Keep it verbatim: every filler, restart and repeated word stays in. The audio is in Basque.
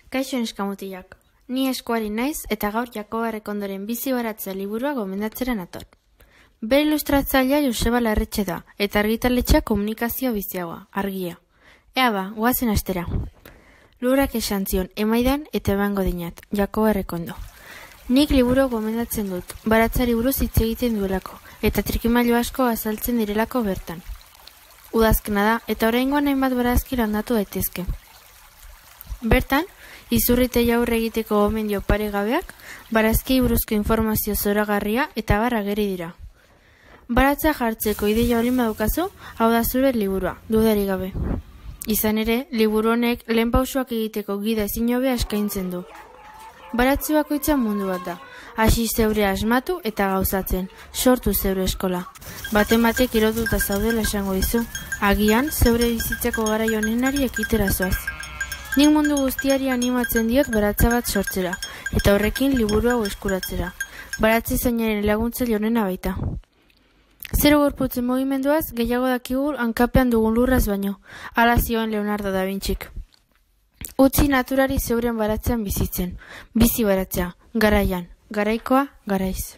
Kaixo neskamutilak, ni eskuari naiz eta gaur Jakoba Errekondoren bizi baratzea liburua gomendatzera nator. Bere ilustratzailea Joseba Larretxe da, eta argitaletxea komunikazio biziagoa, argia. Ea ba, goazen astera. Lurrak esan zion, emaidan eta ebango dinat, Jakoba Errekondo. Nik liburu gomendatzen dut, baratzari buruz hitz egiten duelako, eta trikimailu asko azaltzen direlako bertan. Udazkena da, eta oraingoan hainbat barazki landatu daitezke. Bertan, izurrite jaurre egiteko gomendio paregabeak, barazki buruzko informazio zoragarria eta barra geri dira. Baratza jartzeko ideia olin badukazu, hau da zure liburua, dudari gabe. Izan ere, liburu honek lehen pausuak egiteko gida ezin hobea eskaintzen du. Baratze bakoitza mundu bat da, hasi zeure asmatu eta gauzatzen, sortu zeure eskola. Baten batek erotuta zaudela esango dizu, agian zeure bizitzako garai honenari ekitera zoaz. Nik mundu guztiari animatzen diot baratza bat sortzera, eta horrekin liburu hau eskuratzera. Baratze zainaren laguntzaile honena baita. Zero gorputzen mugimenduaz gehiago dakigu hankapean dugun lurraz baino, hala zioen Leonardo da Vincik. Utzi naturari zeuren baratzean bizitzen, bizi baratzea, garaian, garaikoa, garaiz.